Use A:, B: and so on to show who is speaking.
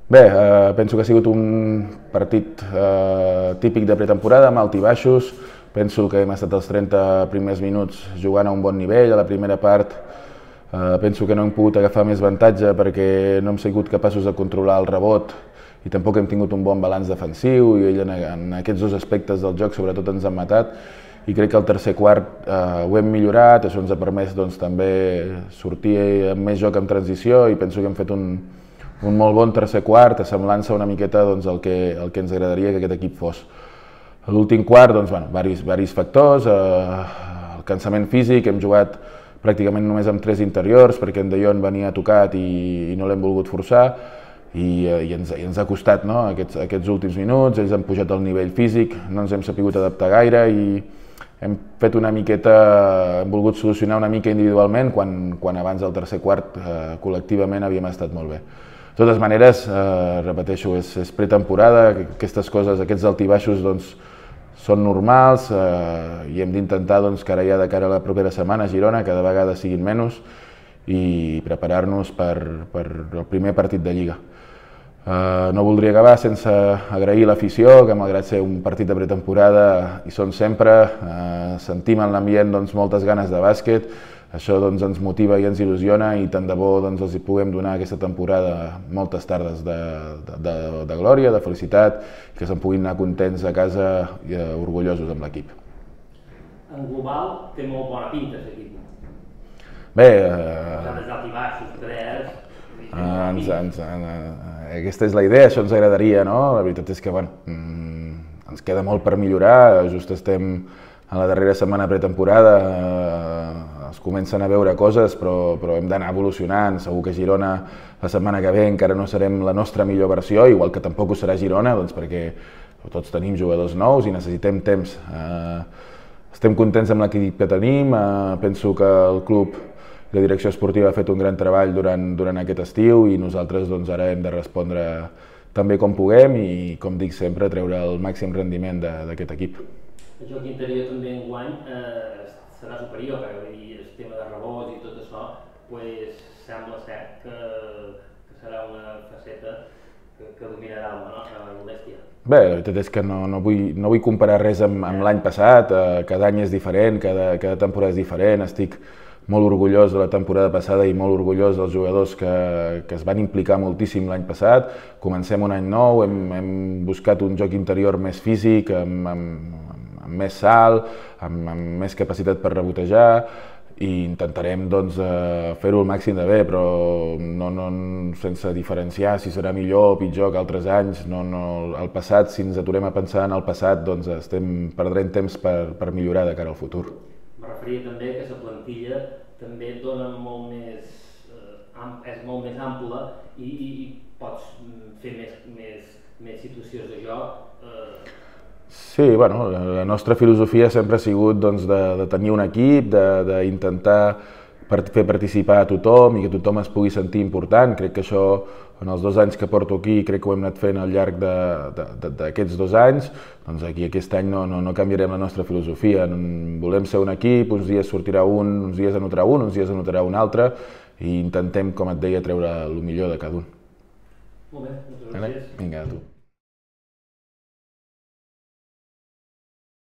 A: Bé, penso que ha sigut un partit típic de pretemporada, amb alt i baixos. Penso que hem estat els 30 primers minuts jugant a un bon nivell. A la primera part penso que no hem pogut agafar més avantatge perquè no hem sigut capaços de controlar el rebot i tampoc hem tingut un bon balanç defensiu i en aquests dos aspectes del joc sobretot ens han matat. I crec que el tercer quart ho hem millorat, això ens ha permès també sortir amb més joc en transició i penso que hem fet un molt bon tercer quart, assemblant-se una miqueta el que ens agradaria que aquest equip fos. A l'últim quart, diversos factors, el cansament físic, hem jugat pràcticament només amb 3 interiors perquè en De Jong venia tocat i no l'hem volgut forçar i ens ha costat aquests últims minuts, ells han pujat el nivell físic, no ens hem sapigut adaptar gaire i hem fet una miqueta, hem volgut solucionar una mica individualment quan abans del tercer quart col·lectivament havíem estat molt bé. De totes maneres, repeteixo, és pretemporada, aquestes coses, aquests altibaixos són normals i hem d'intentar que ara ja de cara a la propera setmana a Girona cada vegada siguin menys i preparar-nos per el primer partit de Lliga. No voldria acabar sense agrair l'afició, que malgrat ser un partit de pretemporada hi són sempre, sentim en l'ambient moltes ganes de bàsquet, això ens motiva i ens il·lusiona i tant de bo els hi puguem donar aquesta temporada moltes tardes de glòria, de felicitat, que se'n puguin anar contents a casa i orgullosos amb l'equip.
B: En global té molt bona pinta aquest equip.
A: Bé, aquesta és la idea, això ens agradaria, no? La veritat és que ens queda molt per millorar, just estem a la darrera setmana pretemporada, es comencen a veure coses però hem d'anar evolucionant, segur que Girona la setmana que ve encara no serem la nostra millor versió, igual que tampoc ho serà Girona, perquè tots tenim jugadors nous i necessitem temps. Estem contents amb l'equip que tenim, penso que el club i la direcció esportiva ha fet un gran treball durant aquest estiu i nosaltres ara hem de respondre tan bé com puguem i, com dic sempre, treure el màxim rendiment d'aquest equip.
B: El joc interior també enguany serà superior, perquè el tema de rebots i tot això, sembla ser que serà una faceta que dominarà el bèstia.
A: Bé, la veritat és que no vull comparar res amb l'any passat, cada any és diferent, cada temporada és diferent, estic molt orgullós de la temporada passada i molt orgullós dels jugadors que es van implicar moltíssim l'any passat. Comencem un any nou, hem buscat un joc interior més físic, amb més salt, amb més capacitat per rebotejar i intentarem fer-ho el màxim de bé, però sense diferenciar si serà millor o pitjor que altres anys. El passat, si ens aturem a pensar en el passat, estem perdent temps per millorar de cara al futur.
B: Me referia també que la plantilla també dona és molt més ampla i pots fer més situacions de joc.
A: Sí, la nostra filosofia sempre ha sigut de tenir un equip, d'intentar fer participar a tothom i que tothom es pugui sentir important. Crec que això, en els 2 anys que porto aquí, crec que ho hem anat fent al llarg d'aquests 2 anys. Aquí aquest any no canviarem la nostra filosofia. Volem ser un equip, uns dies sortirà un, uns dies anotarà un, uns dies anotarà un altre i intentem, com et deia, treure el millor de cada un.
B: Molt bé, moltes gràcies.
A: Vinga, a tu.